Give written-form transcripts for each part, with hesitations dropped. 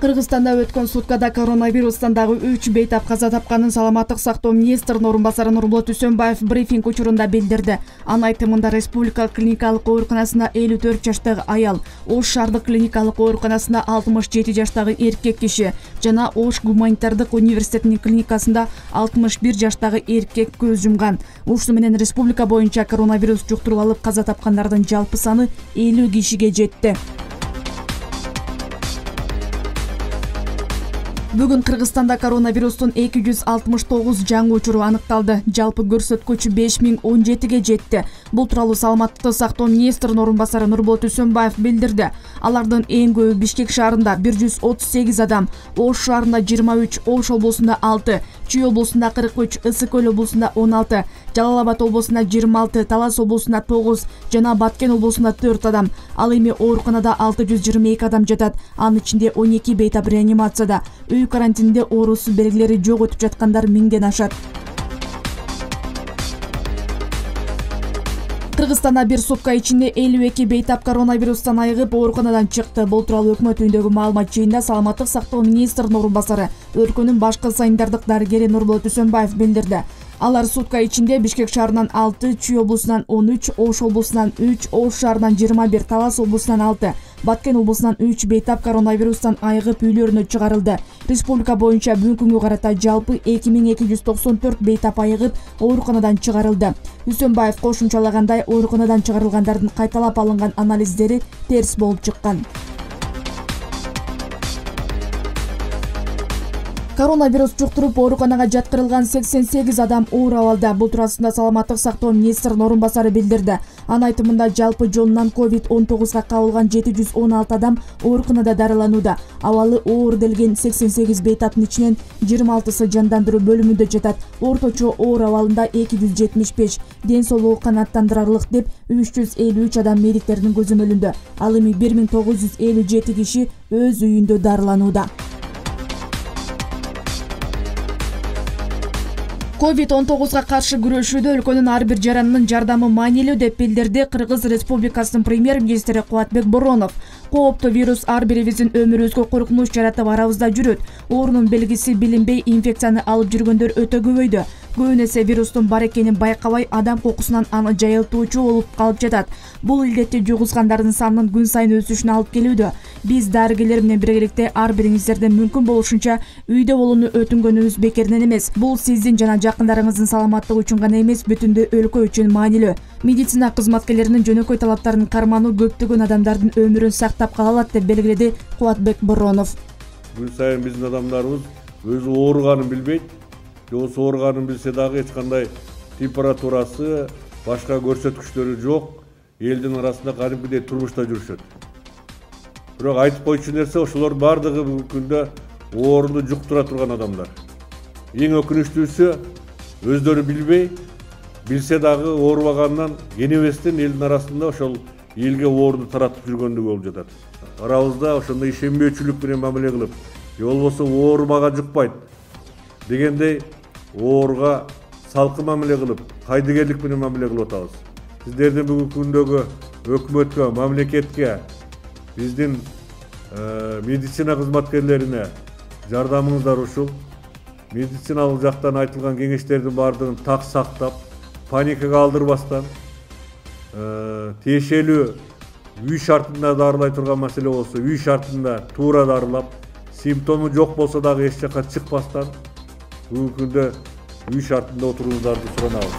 Кыргызстанда өткөн суткада коронавирустан дагы 3 бейтап каза тапканын саламаттык сактоо министринин орун басары Нурболот Үсөнбаев брифинг учурунда билдирди. Анын айтымында республикалык клиникалык ооруканасына 54 жаштагы аял, Ош шаардык клиникалык ооруканасына 67 жаштагы эркек киши жана Ош гуманитардык университетинин клиникасында 61 жаштагы эркек көз жумган. Ушуну менен республика боюнча коронавирус жуктуруп алып каза тапкандардын жалпы саны 50 кишиге жетти. Бүгүн Кыргызстанда коронавирустун 269 жаңы учуру аныкталды. Жалпы көрсөткүч 5017ге жетти. Бул тууралуу саламаттыкты сактоо министринин орун басары Нурболот Үсөнбаев билдирди. Алардын эң көбү Бишкек шаарында 138 адам, Ош шаарында 23, Ош облусунда 6, Чүй облусунда 43, Ысык Көл облусунда 16, Жалал Абад облусунда 26, Талас облусунда 9 жана Баткен облусунда 4 адам. Ал эми ооруканада 622 адам жатат. Анын ичинде 12 бейтап реанимацияда. Үй карантинде оорусу белгилери жок өтүп жаткандар 1000ден ашат. Кыргызстанда бир сутка ичинде 52 бейтап коронавирустан айыгып ооруканадан чыкты. Бул тууралуу өкмөт үйүндөгү маалымат жыйында саламаттык сактоо министринин орун басары, өлкөнүн башкы санитардык дарыгери Нурболот Үсөнбаев билдирди. Алар сутка ичинде Бишкек шаарынан 6, Чүй облусунан 13, Ош облусунан 3, Ош шаарынан 21, Талас облусунан 6, Баткен облусунан 3 бейтап коронавирустан айыгып үйлөрүнө чыгарылды. Республика боюнча бүгүнкү күнгө карата жалпы 2294 бейтап айыгып ооруканадан чыгарылды. Үсөнбаев кошумчалагандай, ооруканадан чыгарылгандардын кайталап алынган анализдери терс болуп чыккан. Коронавирус жуктуруп ооруканага жаткырылган 88 адам оор абалда. Бул туурасында саламаттык сактоо министринин орун басары билдирди. Анын айтымында жалпы жолунан COVID-19 кабылган 716 адам ооруканада дарыланууда. Абалы оор делген 88 бейтаптын ичинен 26сы жандандыруу бөлүмүндө жатат. Орточо оор абалында 275, ден соолугу канааттандырарлык деп 353 адам медиктердин көзөмөлүндө. Ал эми 1957 киши өз үйүндө дарыланууда. COVID-19 каршы күрөшүүдө өлкөнүн ар бир жаранынын жардамы маанилүү деп билдирди Кыргыз Республикасынын премьер-министри Кубатбек Боронов. Кооптуу вирус ар бирибиздин өмүрүбүзгө коркунуч жаратып арабызда жүрөт. Оорунун белгиси билинбей инфекцияны алып жүргөндөр өтө көбөйдү. Көбүн эсе вирустун бар экенин байкабай адам кокусунан аны жайылтуучу болуп калып жатат. Бул илдетти жугузгандардын санынын күн сайын өсүшүнө алып келүүдө. Биз дарыгерлер менен биргеликте ар бириңиздерден мүмкүн болушунча үйдө болууну өтүнгөнүбүз бекеринен эмес. Бул сиздин жана жакындарыңыздын саламаттыгы үчүн гана эмес, бүтүндөй өлкө үчүн маанилүү. Медицина кызматкерлеринин жөнөкөй талаптарын кармануу көптөгөн адамдардын өмүрүн сактап кала алат деп белгиледи Кубатбек Боронов. Күн сайын биздин адамдарыбыз өзү ооруганын билбейт. Жобосу ооруганын билсе дагы эч кандай температурасы, башка көрсөткүчтөрү жок. Элдин арасында кадимкидей турмушта жүрүшөт. Бирок айтып койчу нерсе, ошолор бардыгы бүгүнкү күндө ооруну жуктура турган адамдар. Эң өкүнүчтүүсү, өздөрү билбей, билсе дагы оорубагандан кенебестен элдин арасында ошол элге ооруну таратып жүргөндүгү болуп жатат. Арабызда ошондой ишенбөөчүлүк менен мамиле кылып, же болбосо оорумага жукпайт дегендей ооруга салкын мамиле кылып, кайдыгерлик менен мамиле кылып атабыз. Сиздердин бүгүнкү күндөгү өкмөткө, мамлекетке, биздин медицина кызматкерлерине жардамыңыздар ушул. Медициналык жактан айтылган кеңештердин баардыгын так сактап, паникага алдырбастан, тиешелүү үй шартында дарылай турган маселе болсо, үй шартында туура дарылап, симптому жок болсо дагы эч жакка чыкпастан, бүгүнкү күндө үй шартында отурууңуздарды суранабыз.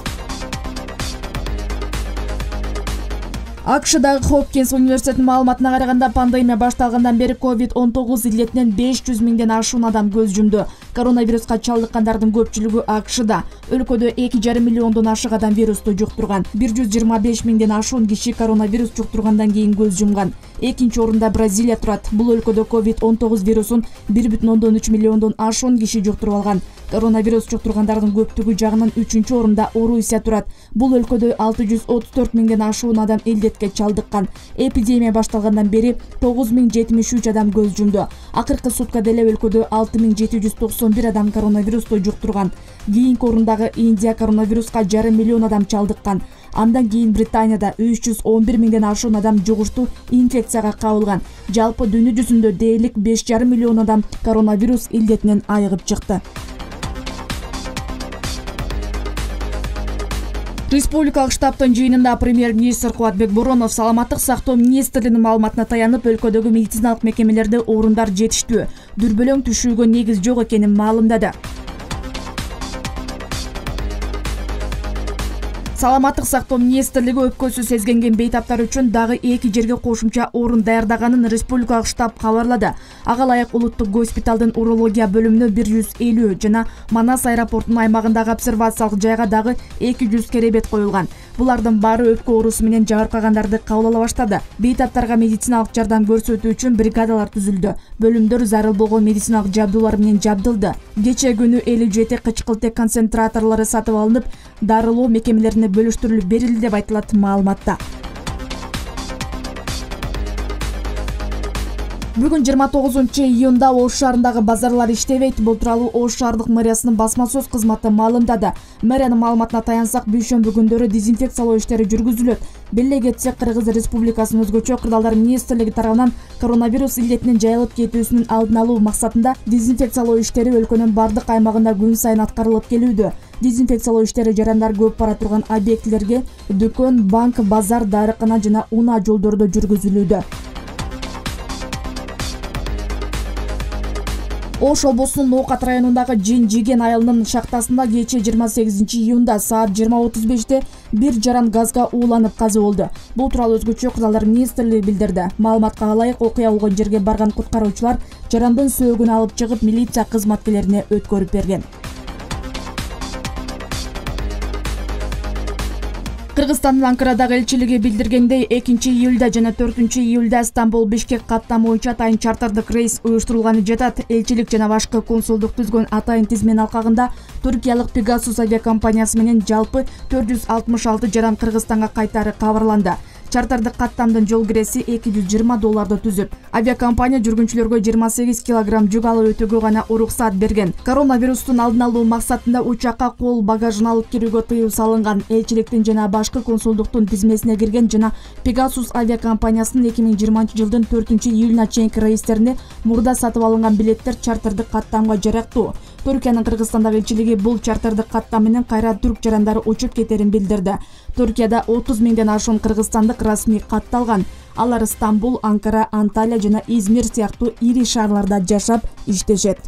АКШдагы Хопкинс университетинин маалыматына караганда, пандемия башталгандан бери COVID-19 илдетинен 500 миңден ашуун адам көз жумду. Коронавируска чалдыккандардын көпчүлүгү АКШда. Өлкөдө 2,5 миллиондон ашык адам вирусту жуктурган. 125 миңден ашуун киши коронавирус жуктургандан кийин көз жумган. Экинчи орунда Бразилия турат. Бул өлкөдө COVID-19 вирусун 1,3 миллиондон ашуун киши жуктуруп алган. Коронавирус жуктургандардын көптүгү жагынан 3-чү орунда Орусия турат. Бул өлкөдө 634 миңден ашуун адам илдетке чалдыккан. Эпидемия башталгандан бери 9073 адам көз жумду. Акыркы суткада эле өлкөдө 6790 91 адам коронавирусту жуктурган. Кийинки орундагы Индия коронавируска 1,5 миллион адам чалдыккан. Андан кийин Британияда 311 миңден ашуун адам жугуштуу инфекцияга кабылган. Жалпы дүйнө жүзүндө дээрлик 5,5 миллион адам коронавирус илдетинен айыгып чыкты. Республикалык штабтын жыйынында премьер-министр Кубатбек Боронов саламаттык сактоо министрлигинин маалыматына таянып, өлкөдөгү медициналык мекемелерде орундар жетиштүү, дүрбөлөң түшүүгө негиз жок экенин маалымдады. Саламаттык сактоо министрлиги өпкөсү сезгенген бейтаптар үчүн дагы 2 жерге кошумча орун даярдаганын республикалык штаб кабарлады. Ага ылайык улуттук госпиталдын урология бөлүмүнө 150 жана Манас аэропортунун аймагындагы обсервациялык жайга дагы 200 керебет коюлган. Булардын баары өпкө оорусу менен жабыркагандарды кабыл ала баштады. Бейтаптарга медициналык жардам көрсөтүү үчүн бригадалар түзүлдү. Бөлүмдөр зарыл болгон медициналык жабдуулар менен жабдылды. Кече күнү 57 кычкылтек концентраторлору сатып алынып, дарылоо мекемелерине бөлүштүрүлүп берилди деп айтылат маалыматта. Бүгүн 29-июнда Ош шаарындагы базарлар иштебейт. Бул тууралуу Ош шаардык мэриясынын басма сөз кызматы маалымдады. Мэриянын маалыматына таянсак, дүйшөмбү күндөрү дезинфекциялоо иштери жүргүзүлөт. Беле кетсек, Кыргыз Республикасынын өзгөчө кырдаалдар министрлиги тарабынан коронавирус илдетинин жайылып кетүүсүнүн алдын алуу максатында дезинфекциялоо иштери өлкөнүн бардык аймагында күн сайын аткарылып келүүдө. Дезинфекциялоо иштери жарандар көп бара турган объектилерге дүкөн, банк, базар, дарыкана жана унаа жолдордо жүргүзүлүүдө. Ош облусунун Ноокат районундагы Жин-Жиген айылынын шахтасында кече 28-июнда саат 20:35 бир жаран газга ууланып каза болду. Бул тууралуу өзгөчө кырдаалдар министрлиги билдирди. Маалыматка ылайык, окуя болгон жерге барган куткаруучулар жарандын сөөгүн алып чыгып милиция кызматкерлерине өткөрүп берген. Кыргызстандын Анкарадагы элчилиги билдиргендей, 2-июлда жана 4-июлда Стамбул-Бишкек каттамы боюнча атайын чартардык рейс уюштурулганы жатат. Элчилик жана башкы консулдук түзгөн атайын тизмен алкагында Түркиялык Pegasus авиакомпаниясы менен жалпы 466 жаран Кыргызстанга кайтары кабарланды. Чартардык каттамдын жол киреси $220 түзүп, авиакомпания жүргүнчүлөргө 28 килограмм жүк алып өтүүгө гана уруксаат берген. Коронавирустун алдын алуу максатында учакка кол багажын алып кирүүгө тыюу салынган. Элчиликтин жана башкы консулдуктун тизмесине кирген жана Pegasus авиакомпаниясынын 2020-жылдын 4-июлуна чейинки рейстерине мурда сатып алынган билеттер чартардык каттамга жарактуу. Түркиянын Кыргызстандагы элчилиги бул чартардык каттам менен кайра түрк жарандары учуп кетерин билдирди. Түркияда 30 миңден ашуун кыргызстандык расмий катталган. Алар Стамбул, Анкара, Анталия жана Измир сыяктуу ири шаарларда жашап иштешет.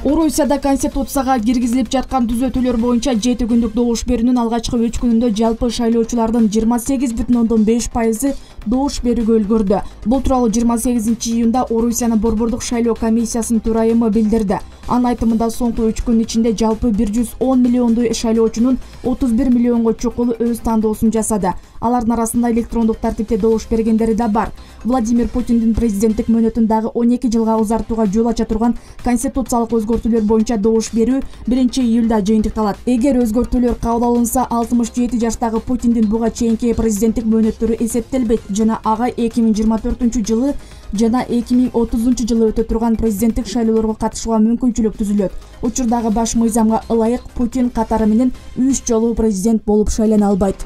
Орусияда Конституцияга киргизилип жаткан түзөтүүлөр боюнча 7 күндүк добуш берүүнүн алгачкы 3 күнүндө жалпы шайлоочулардын 28,5% добуш берүүгө үлгүрдү. Бул тууралуу 28-июнда Орусиянын Борбордук шайлоо комиссиясынын төрайымы билдирди. Анын айтымында соңку 3 күн ичинде жалпы 110 миллиондой шайлоочунун 31 миллионго чукулу өз тандоосун жасады. Алардын арасында электрондук тартипте добуш бергендери да бар. Владимир Путиндин президенттик мөөнөтүн дагы 12 жылга узартууга жол ача турган конституциялык өзгөртүүлөр боюнча добуш берүү 1-июлда жыйынтыкталат. Эгер өзгөртүүлөр кабыл алынса, 67 жаштагы Путиндин буга чейинки президенттик мөөнөттөрү эсептелбейт жана ага 2024-жылы жана 2030 жылы өтө турган президенттик шайлоолорго катышууга мүмкүнчүлүк түзүлөт. Учурдагы баш мыйзамга ылайык Путин катары менен 3 жолу президент болуп шайлана албайт.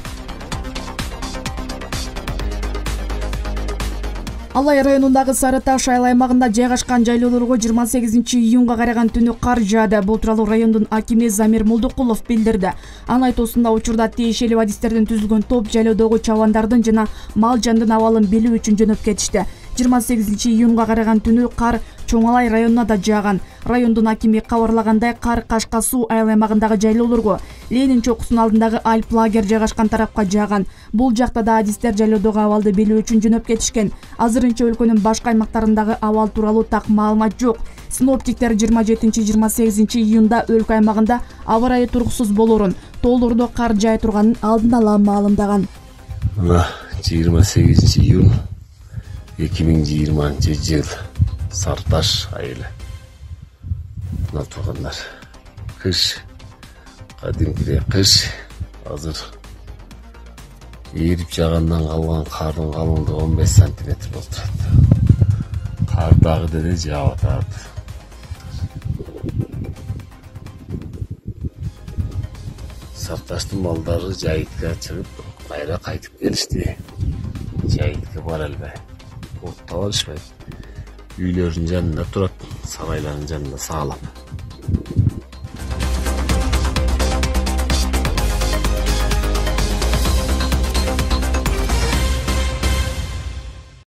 Алай районундагы Сары Таш айыл аймагында жайгашкан жайлоолорго 28-июнга караган түнү кар жаады. Бул тууралуу райондун акими Замир Молдокулов билдирди. Анын айтуусунда учурда тиешелүү адистерден түзүлгөн топ жайлоодогу чабандардын жана мал жандын абалын билүү үчүн жөнөп кетишти. 28-июнга караган түнү кар Чоңалай районуна да жааган. Райондун акими кабарлагандай, кар Кашка суу айыл аймагындагы жайлоолорго, Ленин чокусунун алдындагы Альп лагер жайгашкан тарапка жааган. Бул жакта да адистер жайлоодогу абалды билүү үчүн жөнөп кетишкен. Азырынча өлкөнүн башка аймактарындагы абал тууралуу так маалымат жок. Синоптиктер 27-28 июнда өлкө аймагында аба ырайы туруксуз болоорун, тоолордо кар жай турганын алдын ала маалымдаган. 28 июнь 2020 жыл Сары Таш айылы. Мына тургандар. Кыш, кадимкидей кыш. Азыр эрип жаагандан калган кардын калыңдыгы 15 сантиметр болуп турат. дагы деле жаап атат. Сарташтын балдары жайытка чыгып, кайра кайтып келишти. Жайытка бара албай, отто барышпайт. Үйлөрүнүн жанында турат, сарайлардын жанында сагалап.